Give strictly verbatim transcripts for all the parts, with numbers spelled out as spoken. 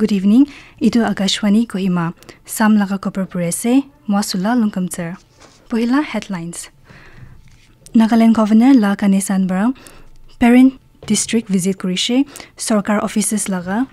Good evening. Etu Akashvani Kohima. Sam laga khobor puri ase. Moi Sula Longkamtsar. Pohila headlines. Nagaland Governor La Ganesan para Peren District visit kurishe. Sorkar offices laga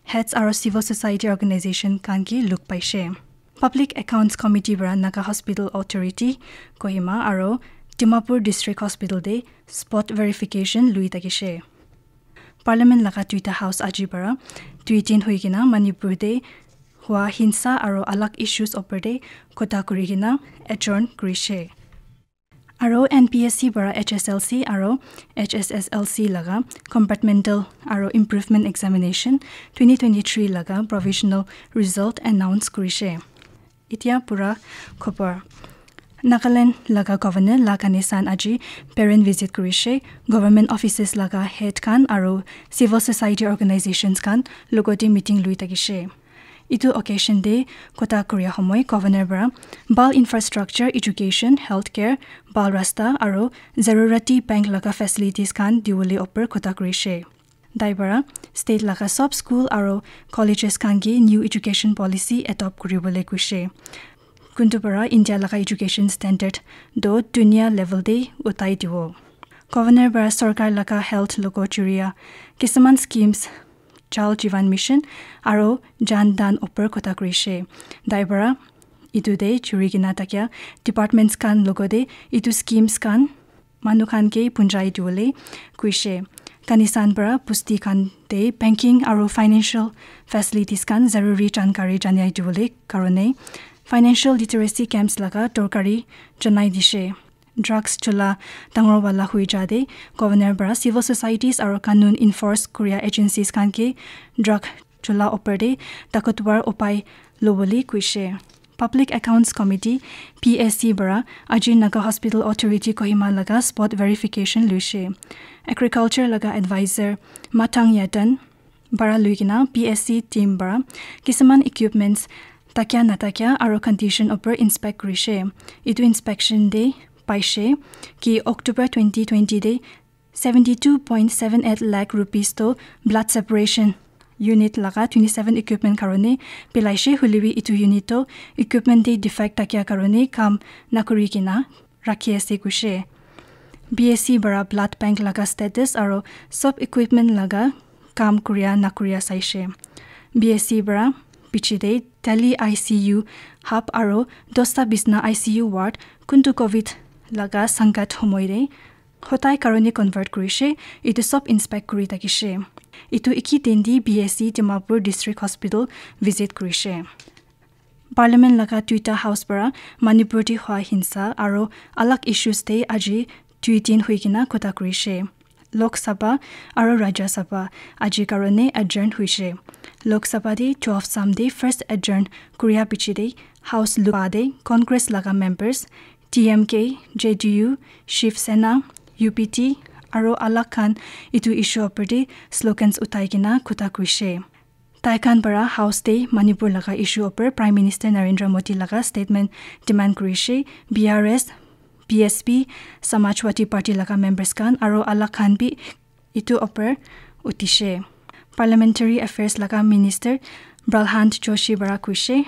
heads aro civil society organization khan ke luk paishe. Public Accounts Committee para Naga Hospital Authority Kohima aro Dimapur District Hospital te spot verification lui thakishe. Parliament laga duita house aji para dui din hui kena Manipur te hua hinsa aro alag issues opor te kotha kuri kena adjourn kurishe. Aro N P S C para H S L C aro H S S L C laga compartmental aro improvement examination twenty twenty-three laga provisional result announce kurishe. Itya pura khobor. Nagaland laga Governor La Ganesan aji Peren visit kurishe, government offices laga head khan aro civil society organizations khan logote meeting lui thakishe. Etu occasion te kotha kuria homoi Governor para bhal infrastructure, education, healthcare, bhal rasta aro zarurati bank laga facilities khan diwole opor kotha kurishe. Tai para state laga sob school aro colleges khan ke new education policy adopt kuribole kuishe. Kuntu para India laga education standard do dunia level te utai diwo. Governor para sorkar laga health logo churia kisuman schemes Jal Jeevan Mission aro Jan Dhan opor kotha kurishe. Tai para etu te churi kena thakia departments khan logote etu schemes khan manu khan ke punjai diwole kuishe. Ganesan para busti khan te banking aro financial facilities khan zaruri jankari janai diwole karone financial literacy camps laga dorkari janai dishe. Drugs chula dangor wala hui ja te Governor para civil societies aro kanun enforce kuria agencies khan ke drug chula opor te takotwar upai lobole kuishe. Public Accounts Committee, P A C, para aji Naga Hospital Authority Kohima laga spot verification luishe. Agriculture laga advisor Mathang Yatan para lui kena P A C team para kisuman equipments takia natakia aro condition opor inspect kurishe. Etu inspection te paishe ki October twenty twenty te seventy two point seven eight lakh rupees to blood separation unit laga twenty seven equipment karone pelaishe, hoilebi etu unit to equipment te defect thakia karone kam nakuri kena rakhi ase kuishe. B S C para blood bank laga status aro sob equipment laga kam kuria nakuria saishe. B S C para piche te Delhi I C U hub aro dosta bisna I C U ward kuntu covid laga sankat homoi te hotai karone convert kurishe, etu sob inspect kuri thakishe. Etu eki din te B S C Dimapur District Hospital visit kurishe. Parliament laga duita house para Manipur te hua hinsa aro alag issues te aji dui din hui kena kotha kurishe. Lok Sabha aro Rajya Sabha aji karone adjourn huishe. Lok Sabha te twelve Sam te first adjourn kuria piche te house lupa te Congress laga members, D M K, J D U, Shiv Sena, U P T aro alag khan etu issue opor te slogans uthai kena kotha kuishe. Tai khan para house te Manipur laga issue opor Prime Minister Narendra Modi laga statement demand kurishe. B R S, B S P, Samajwadi Party laga members khan aro alag khan bi etu opor utishe. Parliamentary Affairs laga Minister Pralhad Joshi para kuishe,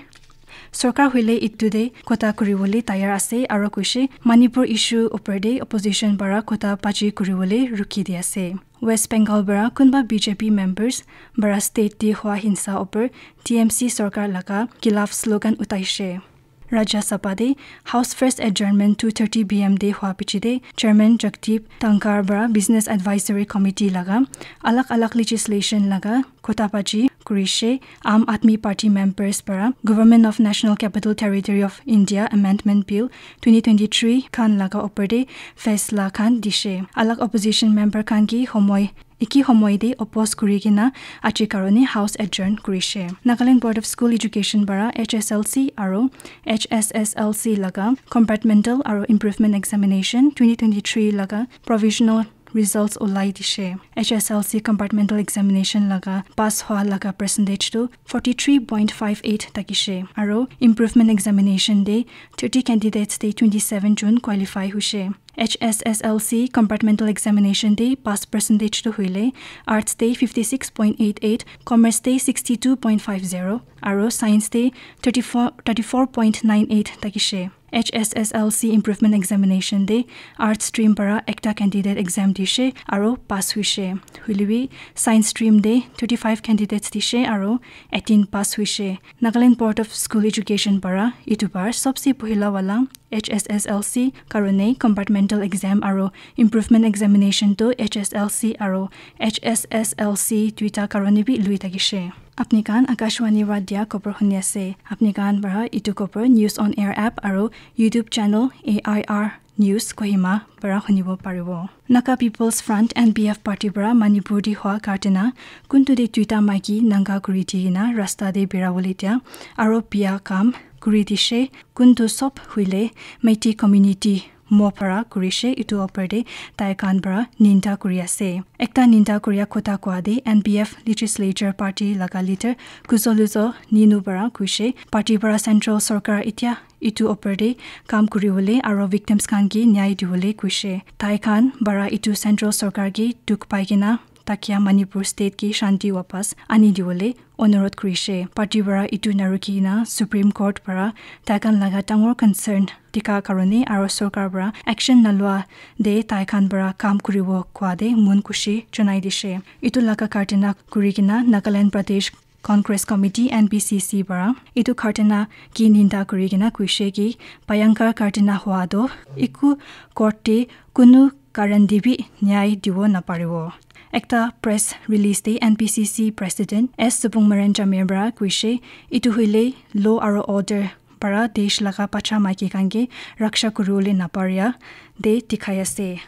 sorkar hoile etu te kotha kuribole tayar ase aro kuishe Manipur issue opor te opposition para kotha baji kuribole rukhi di ase. West Bengal para kunba B J P members para state te hua hinsa opor T M C sorkar laga khilaf slogan utaishe. Rajya Sabha te House first adjournment two thirty P M te hua piche te Chairman Jagdeep Dhankhar para Business Advisory Committee laga alag alag legislation laga kotha baji kurishe. Aam Aadmi Party members para Government of National Capital Territory of India Amendment Bill twenty twenty-three khan laga opor te faisla khan dishe. Alag opposition member khan ki homoi, eki homoi te oppose kuri kena aji karone house adjourn kurishe. Nagaland Board of School Education para H S L C aro H S S L C laga compartmental aro improvement examination twenty twenty-three laga provisional results olai dishe. H S L C compartmental examination laga pass hua laga percentage tu forty three point five eight thakishe. Aro improvement examination de thirty candidates de twenty seven jun qualify hushe. H S S L C compartmental examination de pass percentage tu huile arts de fifty six point eight eight, commerce de sixty two point five zero, aro science de thirty four, thirty four point nine eight thakishe. H S S L C improvement examination de arts stream para ekta candidate exam dishe aro pass huishe. Huilebi science stream de thirty five candidates dishe aro eighteen pass huishe. Nagaland Board of School Education para itu bar sobse pohila wala H S S L C karone compartmental exam aro improvement examination tu H S L C aro H S S L C duita karone bi lui thakishe. Apni khan Akashvani para dia khobor huni ase. Apni khan para itu khobor News on Air app aro YouTube channel A I R News Kohima para hunibo paribo. Naga People's Front, N P F party para Manipur di hua kartena kuntu de duita maiki nanga kuri di kena rasta de bera bole dia aro bia kam kuri dishe. Kuntu sob huile Meitei community mo para kurishe, itu opor de tai khan para ninda kuri ase. Ekta ninda kuria kotha koa de N P F legislature party laga leader Kuzoluzo Ninu para kuishe, party para central sorkar itya itu opor de kam kuri bole aro victims khan ke nyai di bole kuishe. Tai khan para itu central sorkar ke dukh pai kena takia Manipur state ke shanti wapas ani di bole onurodh kurishe. Party para itu narukhi na Supreme Court para tai khan laga dangor concern dikha karone aro sorkar para action nalua de tai khan para kam kuribo koa de mon khushi janai dishe. Itu laga kartena kuri kena Nagaland Pradesh Congress Committee, N P C C, para itu kartena ki ninda kuri kena kuishe ki bhayankar kartena hua do iku court te kunu karan de bi nyai dibo naparibo. Ekta press release de N P C C President S Supungmaren Jamir para kuishe, itu huile law aro order para desh laga bacha maiki khan ke raksha kuribole naparia de dikhai ase.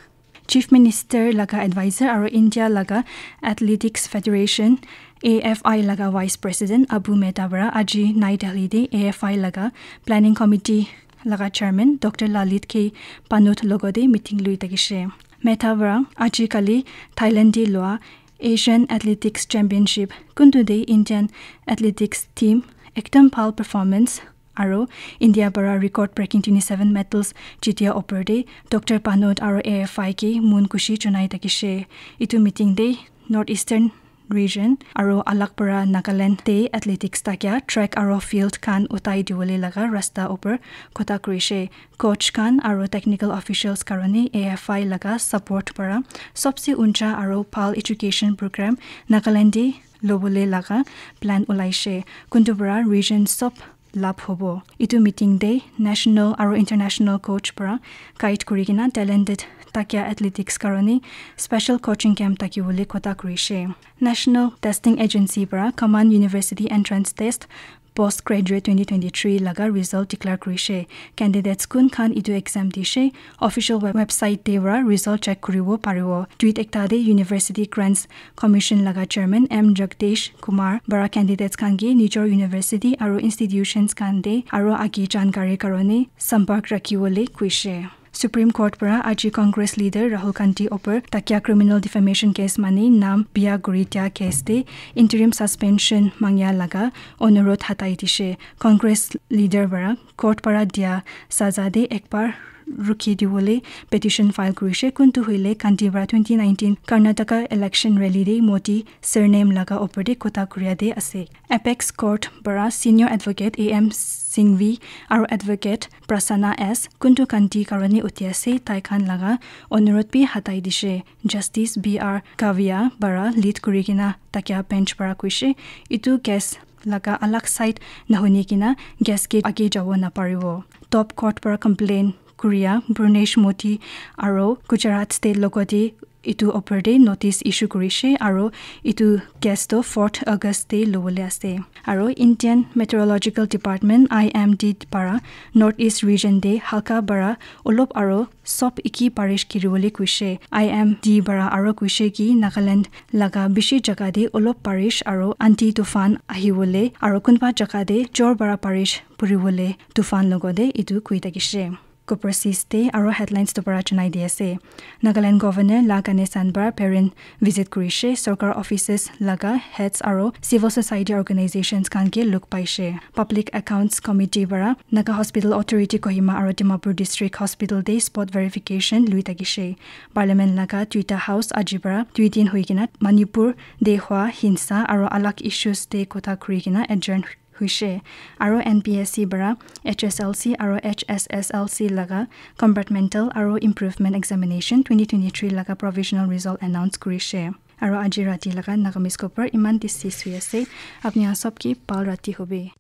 Chief Minister laga advisor aro India laga Athletics Federation, A F I, laga Vice President Abu Mehta para aji Nai Delhi de A F I laga Planning Committee laga Chairman Doctor Lalit K Pannut logote meeting lui thakishe. Mehta para aji kali Thailand de lua Asian Athletics Championship kuntu de Indian athletics team ekdam bhal performance aro India para record breaking twenty seven medals jitia opor de Doctor Pannut aro A F I ke mon khushi janai thakishe. Itu meeting de North Eastern region aro alag para Nagaland de athletics takia track aro field khan utai dibole laga rasta opor kotha kurishe. Coach khan aro technical officials karone A F I laga support para sobse uncha aro bhal education program Nagaland de lobole laga plan ulaishe. Kuntu para region sob lab hobo. Itu meeting de national aro international coach para guide kuri kena talented takia athletics karone special coaching camp thakibole kotha kurishe. National Testing Agency para Common University Entrance Test Postgraduate twenty twenty three laga result declare kurishe. Candidates kun khan itu exam dishe, official web- website de para result check kuribo paribo. Tweet ekta de University Grants Commission laga Chairman M Jagdish Kumar para candidates khan ke nijor university aro institutions khan de aro agi jankari karone sampark rakhi bole kuishe. Supreme Court para aji Congress leader Rahul Gandhi opor takia criminal defamation case mani nam bia guri dia case de interim suspension mangya laga onurodh hatai dishe. Congress leader para court para dia saza de ekbar rukhi dibole petition file kurishe, kuntu huile Gandhi para twenty nineteen Karnataka election rally de Modi surname laga opor de kotha kuria de ase. Apex Court para senior advocate A M Singhvi aro advocate Prasanna S kuntu Gandhi karone uthi ase tai khan laga onurodh bi hatai dishe. Justice B R Kavya para lead kuri kena takia bench para kuishe, itu case laga alag side nahuni kena case ke age jabo naparibo. Top court para complain kuria Bhunesh Modi aro Gujarat state logote itu opor de notice issue kurishe aro itu case to fourth August de lobole ase. Aro Indian Meteorological Department, I M D, para North East region de halka para olop aro sob iki barish giribole kuishe. I M D para aro kuishe ki Nagaland laga bishi jaga de olop barish aro anti tufan ahibole aro kunba jaga de jor para barish puribole tufan logote itu kui thakishe. Copper Seas Day aro headlines tu para janai di ase. Nagaland Governor La Ganesan para parent visit kurishe, sorkar offices laga heads aro civil society organizations khan ke luk paishe. Public Accounts Committee para Naga Hospital Authority Kohima aro Dimapur District Hospital te spot verification lui thakishe. Parliament laga duita house aji para dui din hui kena Manipur te hua hinsa aro alag issues te kotha kuri kena adjourn huishe. Aro N P S C para H S L C aro H S S L C laga compartmental aro improvement examination twenty twenty-three laga provisional result announce kurishe. Aro aji rati laga Nagamese khobor iman te ses hui ase. Apni khan sob ke bhal rati hobe.